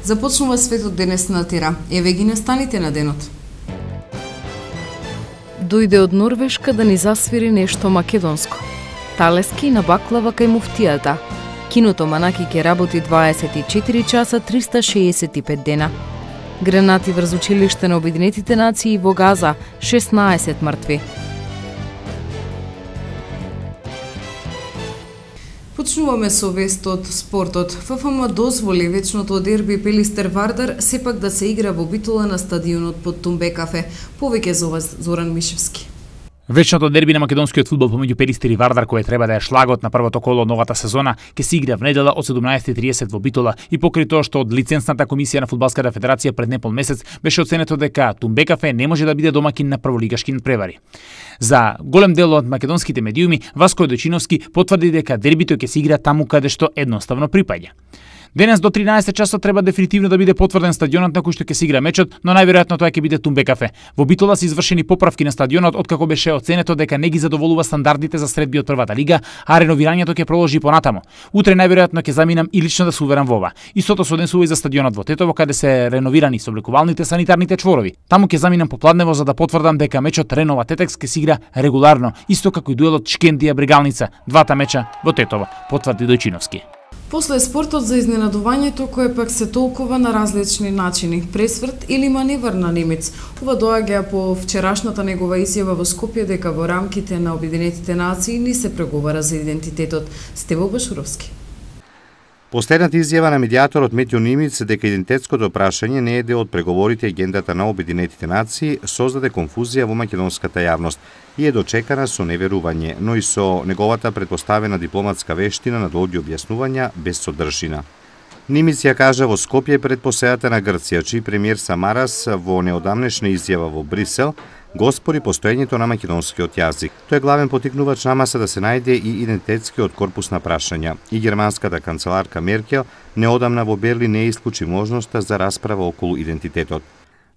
Започнува светот денес на тера. Еве ги настаните на денот. Дојде од Норвешка да ни засвири нешто македонско. Талески на баклава кај муфтијата. Киното Манаки ќе работи 24 часа 365 дена. Гранати врз училиште на Обединетите нации во Газа, 16 мртви. Почнуваме со вест од спортот. ФФМ дозволи вечното дерби Пелистер-Вардар сепак да се игра во Битола на стадионот под Тумбе кафе. Повеќе за ова Зоран Мишевски. Вечното дерби на македонскиот фудбал помеѓу Пелистер и Вардар, кој треба да е шлагот на првото коло од новата сезона, ќе се игра внедела од 17:30 во Битола и покрај тоа што од лицензната комисија на фудбалската федерација пред непол месец беше оценето дека Тумбе кафе не може да биде домакин на прволигашки надпревари. За голем дел од македонските медиуми, Васко Дочиновски потврди дека дербито ќе се игра таму каде што едноставно припаѓа. Денес до 13 часот треба дефинитивно да биде потврден стадионот на кој што ќе се игра мечот, но најверојатно тоа ќе биде Тумбе кафе. Во Битола се извршени поправки на стадионот откако беше оценето дека не ги задоволува стандардите за средби од првата лига, а реновирањето ќе продолжи понатаму. Утре најверојатно ќе заминам и лично да се уверам во ова. Истото се однесува и за стадионот во Тетово, каде се реновирани собликувалните санитарните чворови. Таму ќе заминам попладнево за да потврдам дека мечот Ренова Тетекс ќе се игра регуларно, исто како и дуелот Шкендија Брегалница, двата меча во Тетово, потврди Дојчиновски. После спортот за изненадувањето кое пак се толкува на различни начини, пресврт или маневр на немец. Ова доаѓа по вчерашната негова изјава во Скопје дека во рамките на Обединетите нации не се преговара за идентитетот. Стево Башуровски. Последната изјава на медијаторот Метјо Нимиц дека идентитетското прашање не е дел од преговорите и агендата на Обединетите нации создаде конфузија во македонската јавност и е дочекана со неверување, но и со неговата предпоставена дипломатска вештина на долги објаснувања без содржина. Нимиц ја кажа во Скопје пред посејата на Грција, чиј премиер Самарас во неодамнешна изјава во Брисел го спори постоењето на македонскиот јазик. Тој главен потикнувач на маса да се најде и идентитетскиот корпус на прашања. И германската канцеларка Меркел неодамна во Берлин не исклучи можноста за расправа околу идентитетот.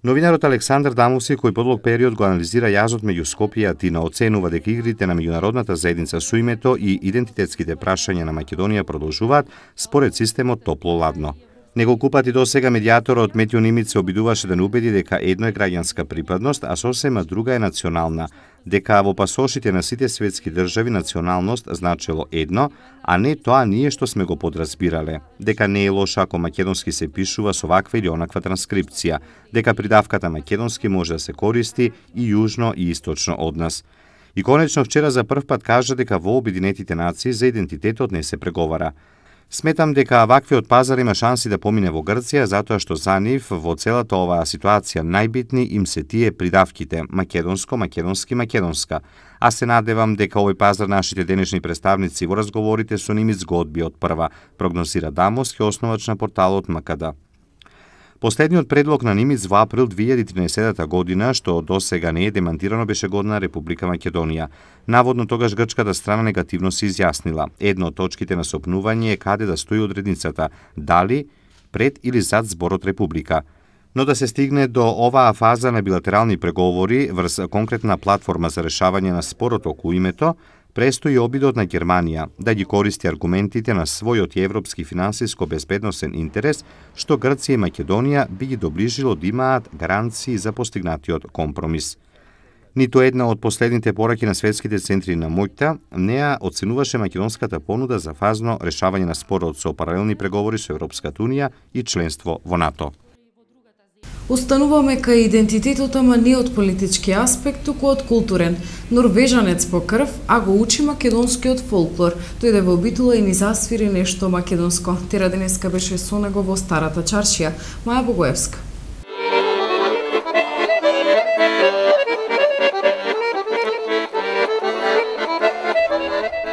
Новинарот Александар Дамовски, кој подлог период го анализира јазот меѓу Скопје и Атина, оценува дека игрите на меѓународната заедница со името и идентитетските прашања на Македонија продолжуваат според системот топло-ладно. Неколку пати досега медијаторот Метјо Нимиц се обидуваше да не убеди дека едно е граѓанска припадност, а сосема друга е национална, дека во пасошите на сите светски држави националност значело едно, а не тоа ние што сме го подразбирале, дека не е лошо ако македонски се пишува со ваква или онаква транскрипција, дека придавката македонски може да се користи и јужно и источно од нас. И конечно вчера за прв пат кажа дека во Обединетите нации за идентитетот не се преговара. Сметам дека ваквиот пазар има шанси да помине во Грција, затоа што за нив во целата оваа ситуација најбитни им се тие придавките македонско, македонски, македонска. А се надевам дека овој пазар нашите денешни представници во разговорите со Нимиц го одби од прва, прогнозира Дамовски, основач на порталот МКД. Последниот предлог на Нимиц во април 2013 година, што досега не е демантирано, беше годна Република Македонија. Наводно тогаш грчката страна негативно се изјаснила. Едно од точките на сопнување е каде да стои одредницата, дали пред или зад зборот Република. Но да се стигне до оваа фаза на билатерални преговори врз конкретна платформа за решавање на спорот околу името, престои обидот на Германија да ги користи аргументите на својот европски финансиско-безбедносен интерес, што Грција и Македонија би ги доближило да имаат гаранции за постигнатиот компромис. Ниту една од последните пораки на светските центри на моќта не ја оценуваше македонската понуда за фазно решавање на спорот со паралелни преговори со Европската унија и членство во НАТО. Остануваме кај идентитетот, ама не од политички аспект, туку од културен. Норвежанец по крв, а го учи македонскиот фолклор. Дојде во Битола и ни засвири нешто македонско. Тера денеска беше со него во Старата чаршија. Маја Богоевска.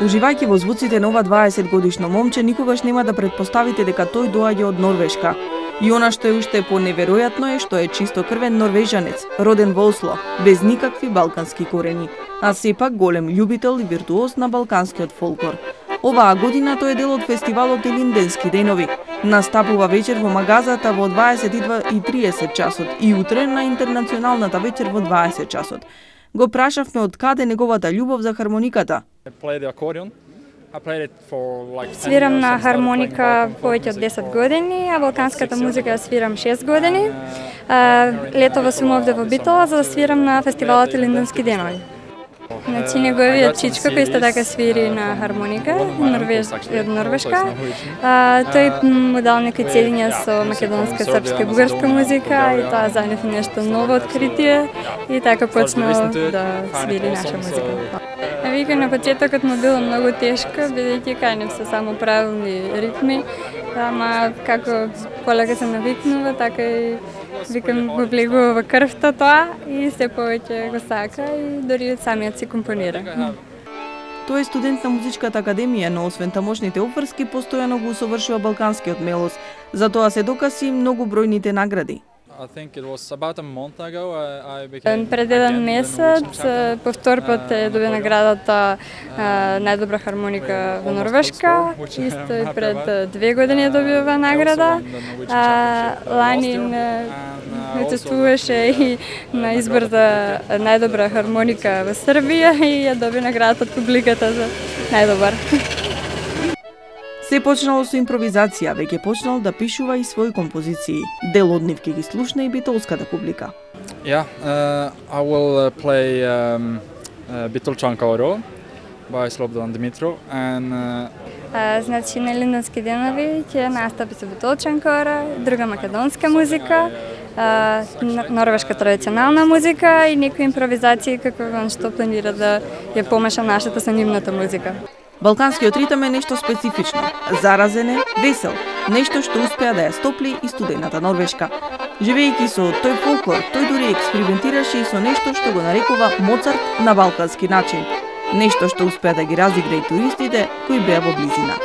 Уживајќи во звуците на ова 20 годишно момче, никогаш нема да предпоставите дека тој доаѓа од Норвешка. И она што е уште поневеројатно е што е чистокрвен норвежанец, роден во Осло, без никакви балкански корени, а сепак голем љубител и виртуоз на балканскиот фолклор. Оваа година тој е дел од фестивалот Илинденски денови. Настапува вечер во Магазата во 22:30 часот и утре на интернационалната вечер во 20 часот. Го прашавме од каде неговата љубов за хармониката. I play the accordion Свирам на хармоника повеќе од 10 години, а балканската музика свирам 6 години. Летово сум овде во Битола за да свирам на фестивалот Илинденски денови. Значи, неговиот чичко кој исто така свири на хармоника, од Норвешка. Тој му дал некои цедиња со македонска, српска и бугарска музика и тоа за нив нешто ново откритие и така почнал да свири наша музика. Вика, на почетокот му било многу тешко, бидејќи кај нив се само правилни ритми, ама како полека се навикнува, така и викам го влегува во крвта тоа и се повеќе го сака и дори самиот си компонира. Тој е студент на Музичката академија, но освен тамошните обврски, постојано го усовршува балканскиот мелос. За тоа се докази многу бројните награди. Пред еден месец повтор пат добија наградата најдобра хармоника во Норвешка. Исто и пред 2 години добива награда. Лани учествуваше и на избор за најдобра хармоника во Србија и ја доби наградата од публиката за најдобар. Се почнало со импровизација, веќе почнал да пишува и своји композиции. Дел од нив ќе ги слушне и битолската публика. I will play Битолчанка Оро by Слободан Димитров and значи на Илинденски денови ќе настапи со Битолчанка Оро, друга македонска музика, норвешка традиционална музика и некои импровизации како што планира да ја помеша нашата со нивната музика. Балканскиот ритам е нешто специфично, заразен е, весел, нешто што успеа да ја стопли и студената Норвешка. Живејќи со тој фолклор, тој дури експериментираше и со нешто што го нарекува Моцарт на балкански начин. Нешто што успеа да ги разигра и туристите кои беа во близина.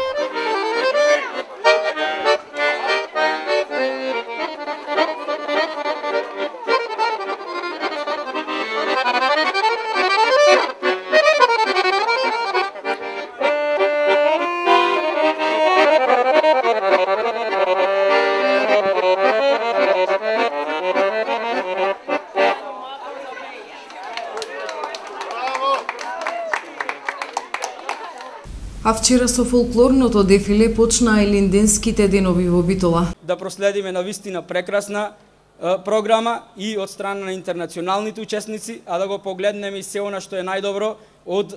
А вчера со фолклорното дефиле почнаа Илинденските денови во Битола. Да проследиме навистина прекрасна програма и од страна на интернационалните учесници, а да го погледнеме и се она што е најдобро од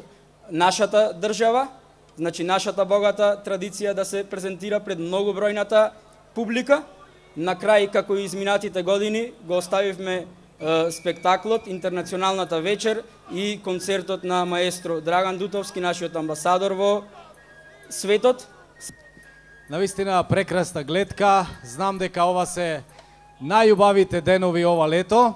нашата држава, значи нашата богата традиција да се презентира пред многу бројната публика. На крај, како и изминатите години, го оставивме спектаклот, интернационалната вечер и концертот на маестро Драган Дутовски, нашиот амбасадор во светот. Навистина прекрасна гледка. Знам дека ова се најубавите денови ова лето.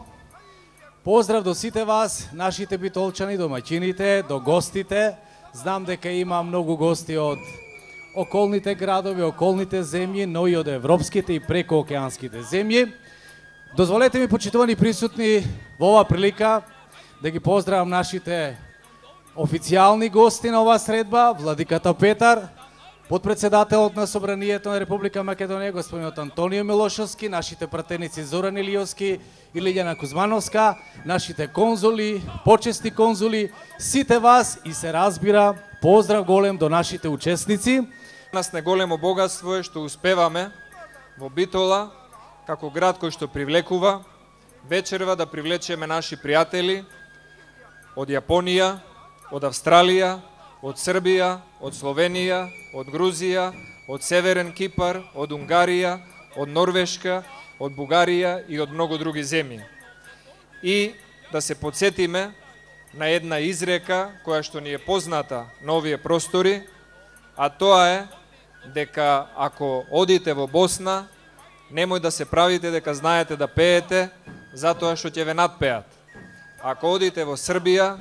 Поздрав до сите вас, нашите битолчани, домаќините, до гостите. Знам дека има многу гости од околните градови, околните земји, но и од европските и прекоокеанските земји. Дозволете ми, почитувани присутни, во ова прилика да ги поздравам нашите официјални гости на оваа средба, владиката Петар, подпредседателот на Собранието на Република Македонија, господинот Антонио Милошовски, нашите пратеници Зоран Илиовски и Лиљана Кузмановска, нашите конзули, почесни конзули, сите вас и се разбира, поздрав голем до нашите учесници. Нас не големо богатство е што успеваме во Битола, како град кој што привлекува, вечерва да привлечеме наши пријатели од Јапонија, од Австралија, од Србија, од Словенија, од Грузија, од Северен Кипар, од Унгарија, од Норвешка, од Бугарија и од многу други земји. И да се подсетиме на една изрека која што ни е позната на овие простори, а тоа е дека ако одите во Босна, немој да се правите дека знаете да пеете, затоа што ќе ве надпеат. Ако одите во Србија,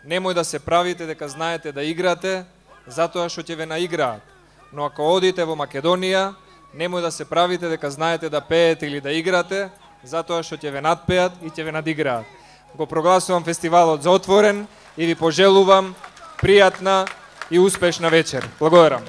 немој да се правите дека знаете да играте, затоа што ќе ве наиграат. Но ако одите во Македонија, немој да се правите дека знаете да пеете или да играте, затоа што ќе ве надпеат и ќе ве надиграат. Го прогласувам фестивалот за отворен и ви пожелувам пријатна и успешна вечер. Благодарам.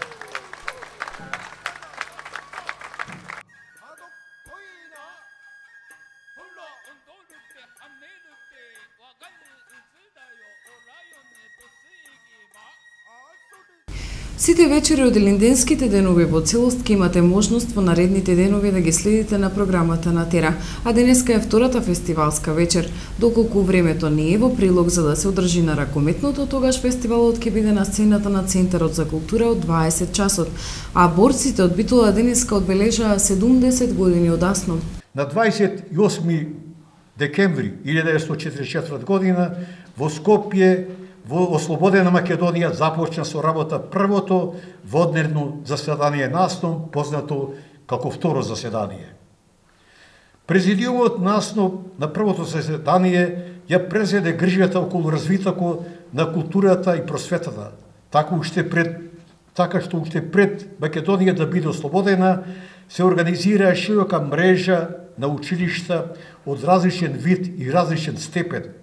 Сите вечери од Илинденските денови во целост ќе имате можност во наредните денови да ги следите на програмата на Тера, а денеска е втората фестивалска вечер. Доколку времето не е во прилог за да се одржи на ракометното, тогаш фестивалот ќе биде на сцената на Центарот за култура од 20 часот, а борците од Битола денеска одбележаа 70 години од Аснон. На 28 декември 1944 година во Скопје, во ослободена Македонија, започна со работа првото водневно заседание на Аснон, познато како второ заседание. Президиумот на Аснон на првото заседание ја презеде грижата околу развитокот на културата и просветата, така што уште пред Македонија да биде ослободена, се организира широка мрежа на училишта од различен вид и различен степен.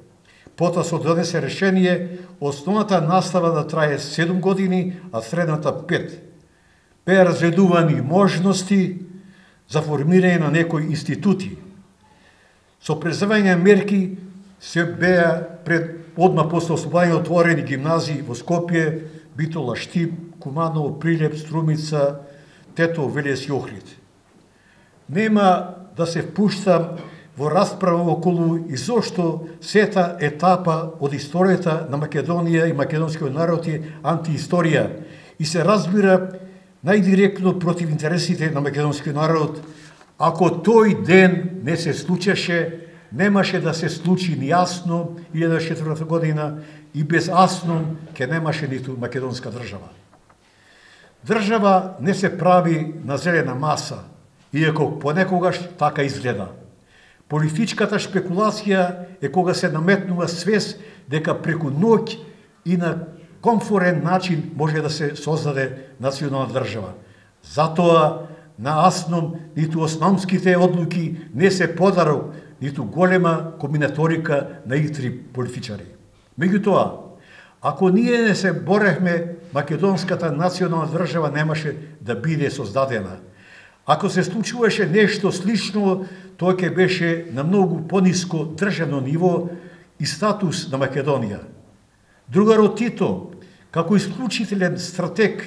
Потоа се донесе решение основната настава да трае 7 години, а средната 5. Беа разгледувани можности за формирање на некои институти. Со преземање мерки се беа одма после ослободување отворени гимназии во Скопје, Битола, Штип, Куманово, Прилеп, Струмица, Тетово, Велес и Охрид. Нема да се впуштам во расправа околу изошто сета етапа од историјата на Македонија и македонскиот народ е антиисторија и се разбира најдиректно против интересите на македонскиот народ. Ако тој ден не се случеше, немаше да се случи ни Аснон 1904 година и без Аснон ке немаше ниту македонска држава. Држава не се прави на зелена маса, иако понекогаш така изгледа. Политичката шпекулација е кога се наметнува свест дека преку ноќ и на комфорен начин може да се создаде национална држава. Затоа на Аснон ниту основските одлуки не се подарок, ниту голема комбинаторика на итри политичари. Меѓутоа, ако ние не се боревме, македонската национална држава немаше да биде создадена. Ако се случуваше нешто слично, тоа ќе беше на многу пониско државно ниво и статус на Македонија. Другарот Тито, како исклучителен стратег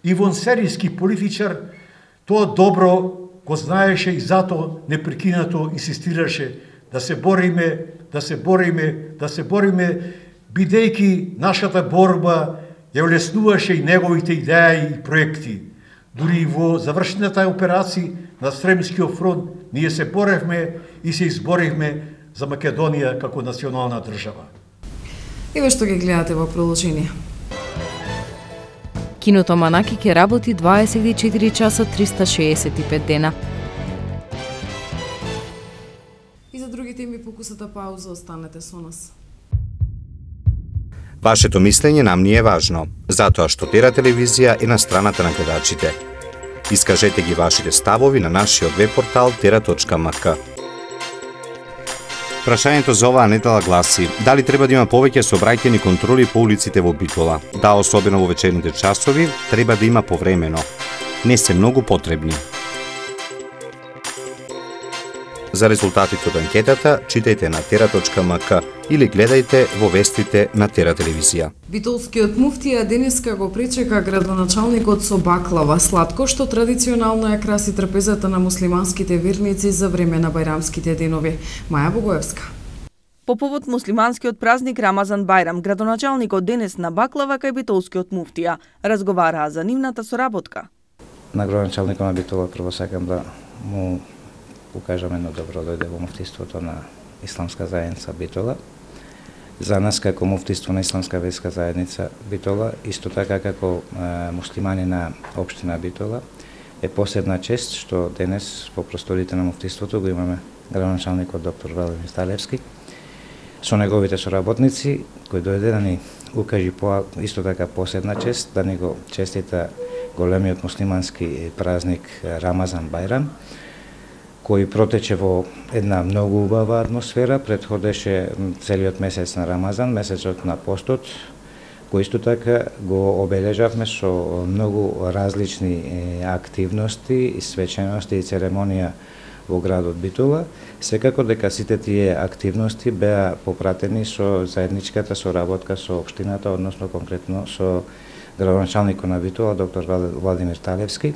и вонсеријски политичар, тоа добро го знаеше и затоа непрекинато инсистираше да се бориме, бидејќи нашата борба ја улеснуваше и неговите идеи и проекти. Дури и во завршената операција на Сремскиот фронт ние се боревме и се изборивме за Македонија како национална држава. Еве што ги гледате во продолжение. Киното Манаки ќе работи 24 часа 365 дена. И за други теми покусата пауза, останете со нас. Вашето мислење нам ни е важно, затоа што Тера телевизија е на страната на гледачите. Искажете ги вашите ставови на нашиот веб-портал tera.mk. Прашањето за оваа недела гласи: дали треба да има повеќе сообраќајни контроли по улиците во Битола? Да, особено во вечерните часови, треба да има повремено. Не се многу потребни. За резултатите од анкетата, читајте на tera.mk или гледајте во вестите на Тера телевизија. Битолскиот муфтија денеска го пречека градоначалникот со баклава, сладко што традиционално ја краси трпезата на муслиманските верници за време на бајрамските денови. Маја Богоевска. По повод муслиманскиот празник Рамазан Бајрам, градоначалникот денес на баклава кај битолскиот муфтија разговараа за нивната соработка. На градоначалникот на Битола прво сакам да му покажам едно добро дојде во муфтиството на Исламска заедница Битола. За нас како муфтиство на Исламска верска заедница Битола, исто така како муслимани на општина Битола, е посебна чест што денес по просторите на муфтиството го имаме градоначалникот доктор Валерин Сталевски со неговите соработници, кој дојде да ни укажи исто така посебна чест, да ни го честита големиот муслимански празник Рамазан Бајрам, кој протече во една многу убава атмосфера, предходеше целиот месец на Рамазан, месецот на постот, кој исто така го обележавме со многу различни активности и свечености и церемонија во градот Битола. Секако дека сите тие активности беа попратени со заедничката соработка со општината, односно конкретно со градоначалникот на Битола, доктор Владимир Талевски.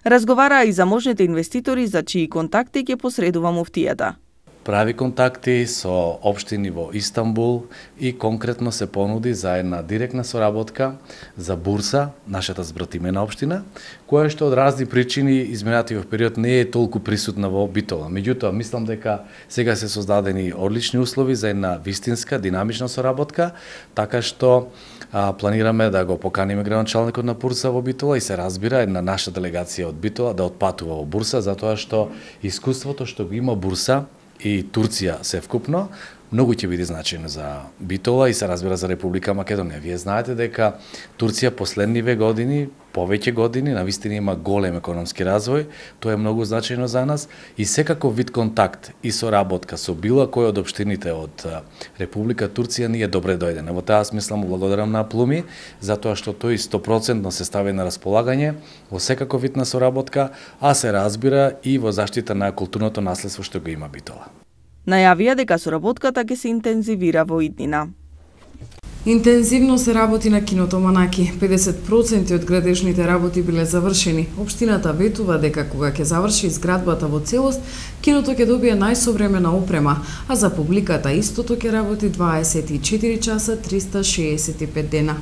Разговараа и за можните инвеститори за чии контакти ќе посредува муфтијата. Прави контакти со општини во Истанбул и конкретно се понуди за една директна соработка за Бурса, нашата збратимена општина, која што од разни причини изминатиот период не е толку присутна во Битола. Меѓутоа, мислам дека сега се создадени одлични услови за една вистинска, динамична соработка, така што планираме да го поканиме градоначалникот на Бурса во Битола и се разбира една наша делегација од Битола да отпатува во Бурса, затоа што искуството што го има Бурса и Турција севкупно многу ќе биде значајно за Битола и се разбира за Република Македонија. Вие знаете дека Турција последниве години, повеќе години, навистина има голем економски развој, тоа е многу значајно за нас и секаков вид контакт и соработка со било кој од општините од Република Турција ни е добре дојден. Во таа смисла му благодарам на Плуми, затоа што тој 100% се стави на располагање во секаков вид на соработка, а се разбира и во заштита на културното наследство што го има Битола. Најавија дека соработката ќе се интензивира во иднина. Интензивно се работи на киното Манаки. 50% од градежните работи биле завршени. Општината ветува дека кога ќе заврши изградбата во целост, киното ќе добие најсовремена опрема, а за публиката истото ќе работи 24 часа 365 дена.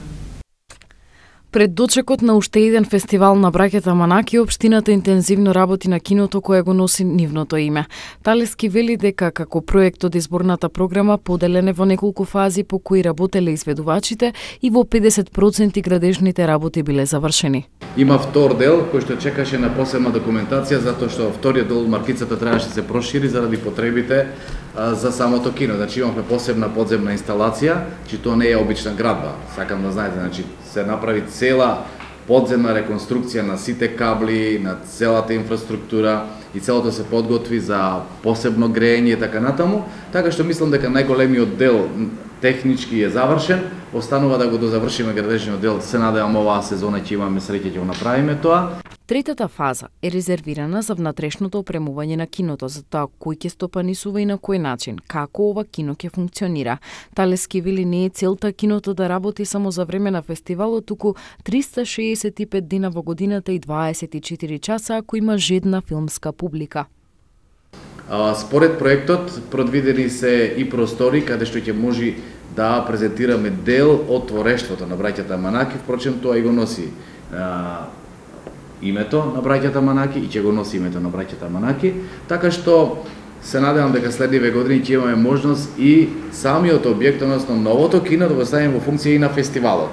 Пред дочекот на уште еден фестивал на браќата Манаки, општината интензивно работи на киното кое го носи нивното име. Талески вели дека како проект од изборната програма поделен е во неколку фази по кои работеле изведувачите и во 50% градежните работи биле завршени. Има втор дел кој што чекаше на посебна документација затоа што вториот дел маркицата требаше да се прошири заради потребите за самото кино. Значи имавме посебна подземна инсталација, че тоа не е обична градба. Сакам да знаете, значи се направи цела подземна реконструкција на сите кабли, на целата инфраструктура и целото се подготви за посебно грејење и така натаму, така што мислам дека најголемиот дел технички е завршен, останува да го дозавршиме градежниот дел. Се надевам оваа сезона ќе имаме среќа ќе го направиме тоа. Третата фаза е резервирана за внатрешното опремување на киното, за тоа кој ќе стопанисува и на кој начин, како ова кино ќе функционира. Талески вели не е целта киното да работи само за време на фестивалот, туку 365 дена во годината и 24 часа ако има жедна филмска публика. Според проектот, предвидени се и простори каде што ќе може да презентираме дел од творештвото на браќата Манаки, впрочем тоа и го носи името на браќата Манаки и ќе го носи името на браќата Манаки, така што се надевам дека следниве години ќе имаме можност и самиот објект, односно новото кино, да го ставиме во функција и на фестивалот.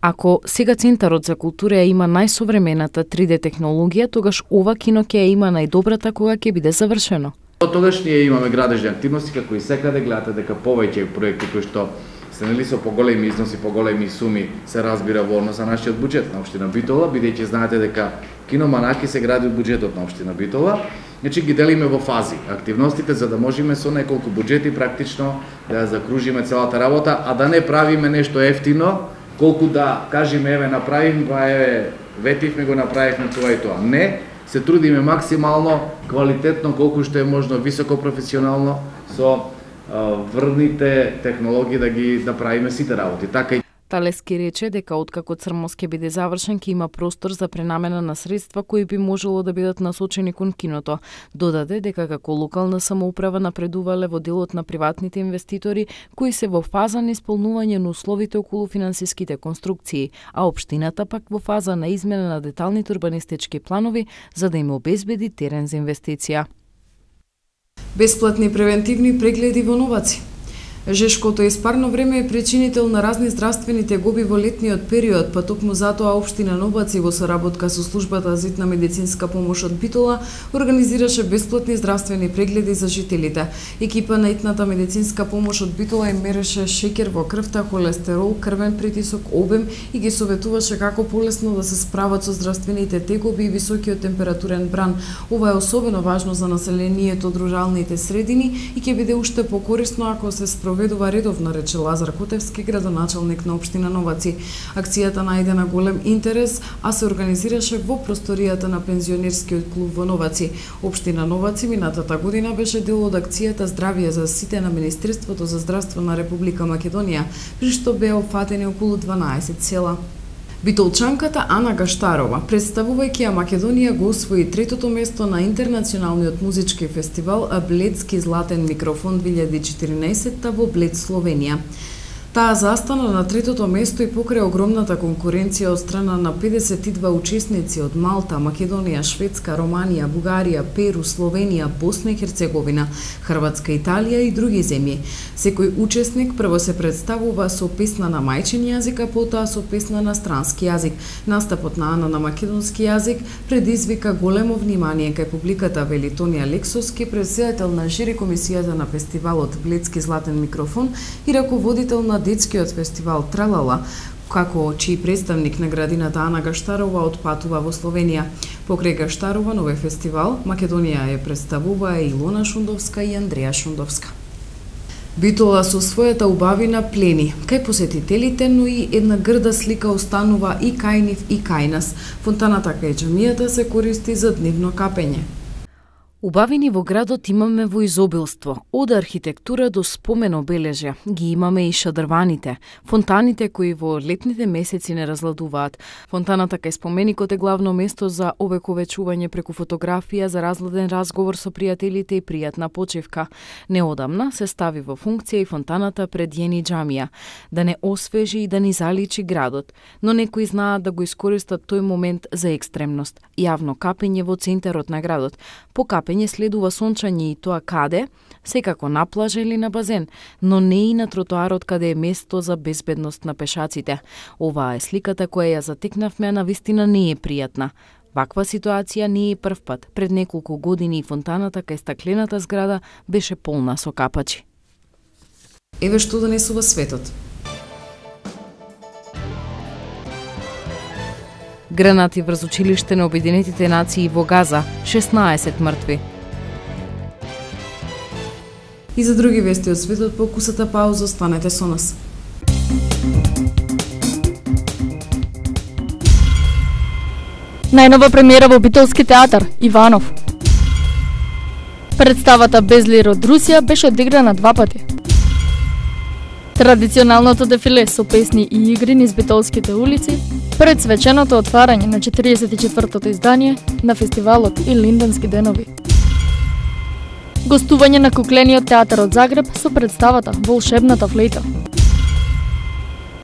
Ако сега Центарот за култура има најсовремената 3D технологија, тогаш ова кино ќе има најдобрата кога ќе биде завршено. Тогаш ние имаме градежни активности, како и секаде гледате дека повеќе проекти кои што се нели со поголеми износи, поголеми суми се разбира во однос на нашиот буџет на општина Битола, бидејќи знаете дека кино Манаки се гради од буџетот на општина Битола. Значи ги делиме во фази активностите за да можеме со неколку буџети практично да закружиме целата работа, а да не правиме нешто ефтино, колку да кажеме еве направим, еве ветивме го направивме тоа и тоа. Не, се трудиме максимално квалитетно, колку што е можно високо професионално со врвните технологии да ги правиме сите работи. Така и Талески рече дека откако Црмоз ќе биде завршен, ќе има простор за пренамена на средства кои би можело да бидат насочени кон киното. Додаде дека како локална самоуправа напредувале во делот на приватните инвеститори кои се во фаза на исполнување на условите околу финансиските конструкции, а општината пак во фаза на измена на деталните урбанистички планови за да им обезбеди терен за инвестиција. Бесплатни превентивни прегледи во Новаци. Жешкото испарно време е причинител на разни здравствени тегоби во летниот период, па токму затоа општина Новаци во соработка со службата за hitna медицинска помош од Битола организираше бесплатни здравствени прегледи за жителите. Екипа на hitната медицинска помош од Битола им мереше шеќер во крвта, холестерол, крвен притисок, обем и ги советуваше како полесно да се справат со здравствените тегоби и високиот температурен бран. Ова е особено важно за населението од руралните средини и ќе биде уште покорисно ако се спроведе спроведува редовно, рече Лазар Котевски, градоначалник на општина Новаци. Акцијата најде на голем интерес, а се организираше во просторијата на пензионерскиот клуб во Новаци. Општина Новаци минатата година беше дел од акцијата Здравје за сите на Министерството за здравство на Република Македонија, при што беа опфатени околу 12 села. Битолчанката Ана Гаштарова, представувајќи ја Македонија, го освои третото место на интернационалниот музички фестивал Бледски златен микрофон 2014 во Блед, Словенија. Таа застана на третото место и покрај огромната конкуренција од страна на 52 учесници од Малта, Македонија, Шведска, Романија, Бугарија, Перу, Словенија, Босна и Херцеговина, Хрватска, Италија и други земји. Секој учесник прво се представува со песна на мајчин јазик, а потоа со песна на странски јазик. Настапот на Ана на македонски јазик предизвика големо внимание кај публиката, вели Тонија Лексовски, претседател на жири комисијата на фестивалот Бледски златен микрофон и раководител на детскиот фестивал Тралала, како чиј представник на градината Ана Гаштарова отпатува во Словенија. Покрај Гаштарова нове фестивал, Македонија ја представува и Илона Шундовска и Андреја Шундовска. Битола со својата убавина плени кај посетителите, но и една грда слика останува и кај нив и кај нас. Фонтаната кај џамијата се користи за дневно капење. Убавини во градот имаме во изобилство, од архитектура до спомен обележја. Ги имаме и шадрваните, фонтаните кои во летните месеци не разладуваат. Фонтаната кај споменикот е главно место за овековечување преку фотографија, за разладен разговор со пријателите и пријатна почивка. Неодамна се стави во функција и фонтаната пред Јени џамија, да не освежи и да ни заличи градот, но некои знаат да го искористат тој момент за екстремност. Јавно капење во центарот на градот. По капење следува сончање и тоа каде? Секако на плажа или на базен, но не и на тротоарот каде е место за безбедност на пешаците. Оваа е сликата која ја затекнавме, а навистина не е пријатна. Ваква ситуација не е прв пат. Пред неколку години фонтаната кај стаклената зграда беше полна со капачи. Еве што донесува светот. Гранати врз училиште на Обединетите нации во Газа, 16 мртви. И за други вести од светот по кусата пауза, останете со нас. Најнова премиера во Битолски театар, Иванов. Представата Безлир од Русија беше одиграна 2 пати. Традиционалното дефиле со песни и игри низ битолските улици пред свеченото отварање на 44-тото издание на фестивалот и Линденски денови. Гостување на куклениот театар од Загреб со представата Волшебната флейта.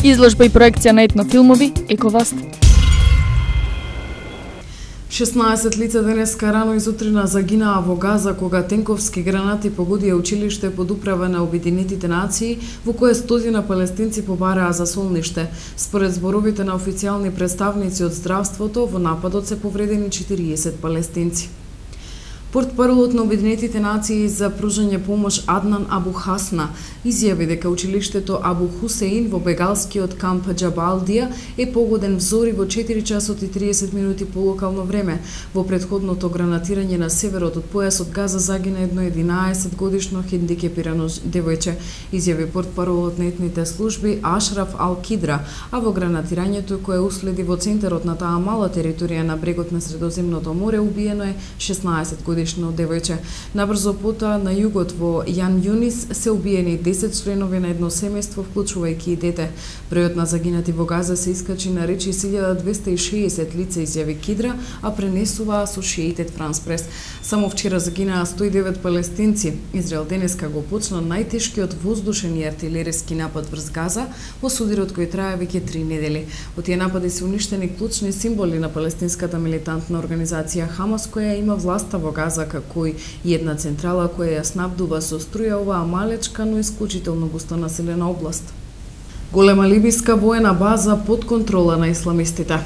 Изложба и проекција на етнофилмови Ековаст. 16 лица денеска рано изутрина загинаа во Газа кога тенковски гранати погодија училиште под управа на Обединетите нации, во кое стотина палестинци побараа за солниште. Според зборовите на официјални представници од здравството, во нападот се повредени 40 палестинци. Портпаролот на Обединетите нации за пружање помош Аднан Абу Хасна изјави дека училиштето Абу Хусеин во бегалскиот камп Џабалдија е погоден взори во 4 часот и 30 минути по локално време. Во претходното гранатирање на северот од појасот Газа загина едно 11 годишно хендикепирано девојче, изјави портпаролот на етните служби Ашраф Ал-Кидра, а во гранатирањето кое уследи во центарот на таа мала територија на брегот на Средоземното море убиено е 16 годишно девојче. Набрзо потоа на југот во Јан Јунис се убиени 10 членови на едно семејство, вклучувајќи и дете. Бројот на загинати во Газа се искачи на речи 1260 лица, изјави Кидра, а пренесува Associated France Press. Само вчера загинаа 109 палестинци. Израел денеска го почна најтешкиот воздушен и артилериски напад врз Газа во судирот кој трае веќе 3 недели. Од тие напади се уништени клучни символи на палестинската милитантна организација Хамас, која има власта во Газа, како и една централа која ја снабдува со струја оваа малечка, но исклучително густонаселена област. Голема либиска воена база под контрола на исламистите.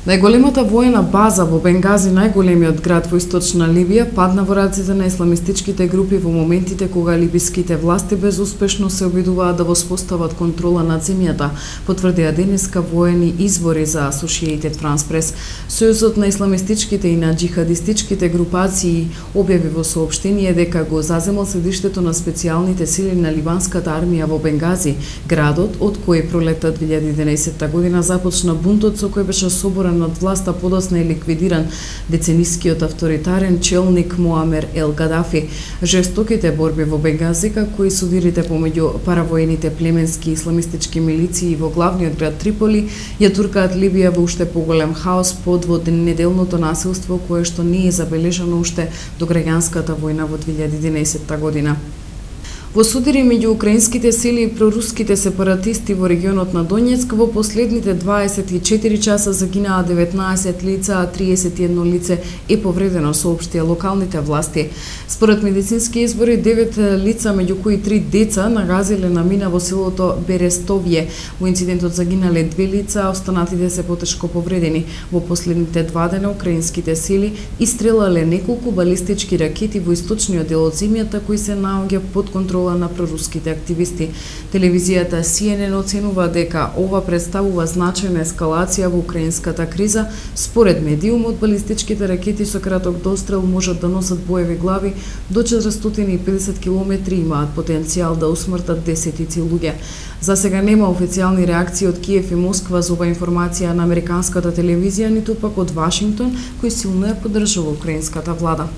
Најголемата воена база во Бенгази, најголемиот град во источна Либија, падна во раците на исламистичките групи во моментите кога либиските власти безуспешно се обидуваат да воспостават контрола над земјата, потврдија денеска воени извори за Associated France Press. Сојузот на исламистичките и на џихадистичките групации објави во соопштение дека го заземал седиштето на специјалните сили на либанската армија во Бенгази, градот од кој пролетта 2011 година започна бунтот со кој беше соборен од власта подоцна е ликвидиран деценискиот авторитарен челник Муамер Ел Гадафи. Жестоките борби во Бенгази, како и судирите помеѓу паравоените племенски исламистички милиции во главниот град Триполи, ја туркаат Либија во уште поголем хаос под неделното насилство кое што не е забележано уште до граѓанската војна во 2011 година. Во судири меѓу украинските сили и проруските сепаратисти во регионот на Донецк во последните 24 часа загинаа 19 лица, а 31 лице е повредено, соопштија локалните власти. Според медицински избори, 9 лица, меѓу кои 3 деца, нагазиле на мина во селото Берестовје. Во инцидентот загинале 2 лица, а останатите се потешко повредени. Во последните 2 дена украинските сили истрелале неколку балистички ракети во источниот дел од земјата кои се наоѓа под контрола на проруските активисти. Телевизијата CNN оценува дека ова представува значајна ескалација во украинската криза. Според медиумот, балистичките ракети со краток дострел можат да носат боеви глави до 450 км и имаат потенцијал да усмртат десетици луѓе. За сега нема официјални реакции од Киев и Москва за ова информација на американската телевизија, ниту пак од Вашингтон, кој силно ја поддржува украинската влада.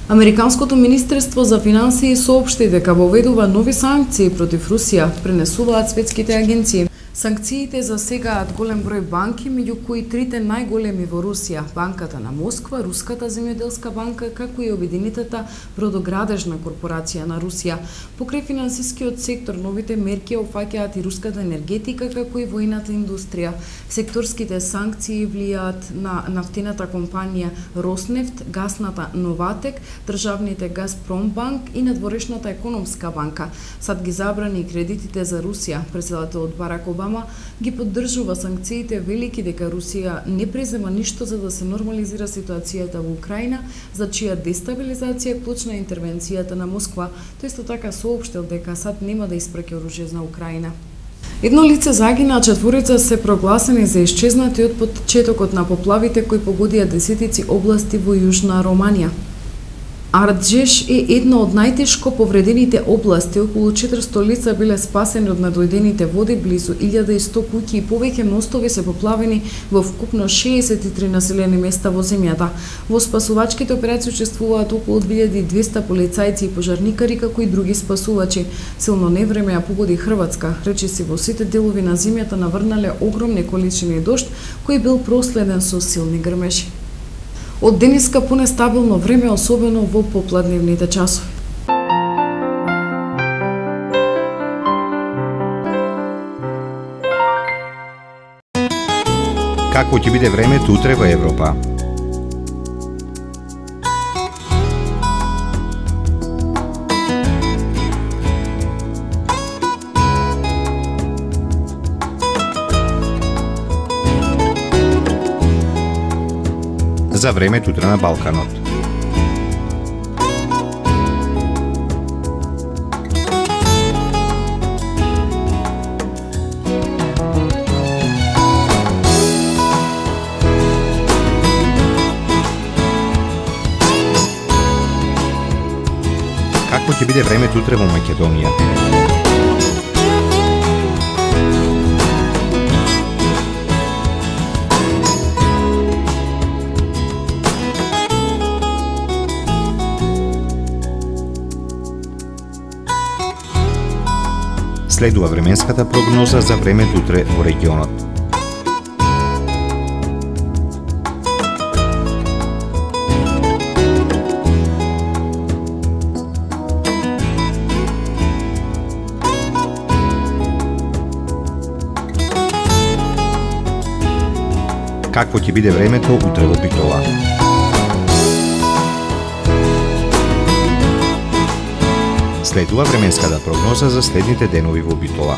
Американското министерство за финансии соопшти дека воведува нови санкции против Русија, пренесуваат светските агенции. Санкциите засегаат голем број банки, меѓу кои 3 најголеми во Русија, Банката на Москва, Руската земјоделска банка, како и Обединетата бродоградежна корпорација на Русија. Покрај финансискиот сектор, новите мерки опфаќаат и руската енергетика, како и војната индустрија. Секторските санкции влијаат на нафтената компанија Роснефт, гасната Новатек, државните Газпромбанк и надворешната економска банка. САД ги забрани и кредитите за Русија. Претседателот Барак Обама ги поддржува санкциите, велики дека Русија не презема ништо за да се нормализира ситуацијата во Украина, за чија дестабилизација клучна интервенцијата на Москва. Тој исто така соопштил дека САД нема да испраќа оружје за Украина. Едно лице загина, а 4 се прогласени за исчезнати од почетокот на поплавите кои погодија десетици области во Јужна Романија. Арджеш е една од најтешко повредените области. Околу 400 лица биле спасени од надојдените води, близу 1100 куќи и повеќе мостови се поплавени во вкупно 63 населени места во земјата. Во спасувачките операции учествуваат околу 2200 полицајци и пожарникари, како и други спасувачи. Силно невреме ја погоди Хрватска. Речиси во сите делови на земјата наврнале огромни количини дожд, кој бил проследен со силни грмежи. Од денеска понестабилно време, особено во попладневните часови. Какво ќе биде времето утре во Европа? За времето утре на Балканот. Какво ќе биде времето утре во Македонија? Следува временската прогноза за времето утре во регионот. Какво ќе биде времето утре во Битола? Следува временската прогноза за следните денови во Битола.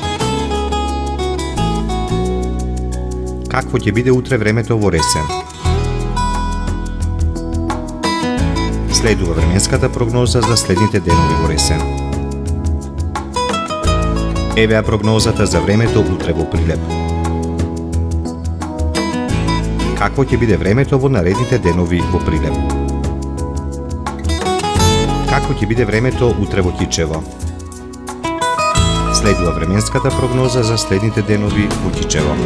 Какво ќе биде утре времето во Ресен? Следува временската прогноза за следните денови во Ресен. Евеа прогнозата за времето утре во Прилеп. Какво ќе биде времето во наредните денови во Прилеп? Какво ќе биде времето утре во Кичево? Следува временската прогноза за следните денови во Кичево.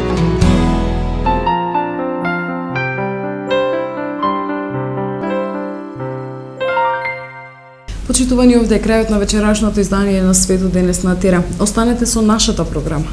Почитувани, овде е крајот на вечерашното издание на Светот денес на Тера. Останете со нашата програма.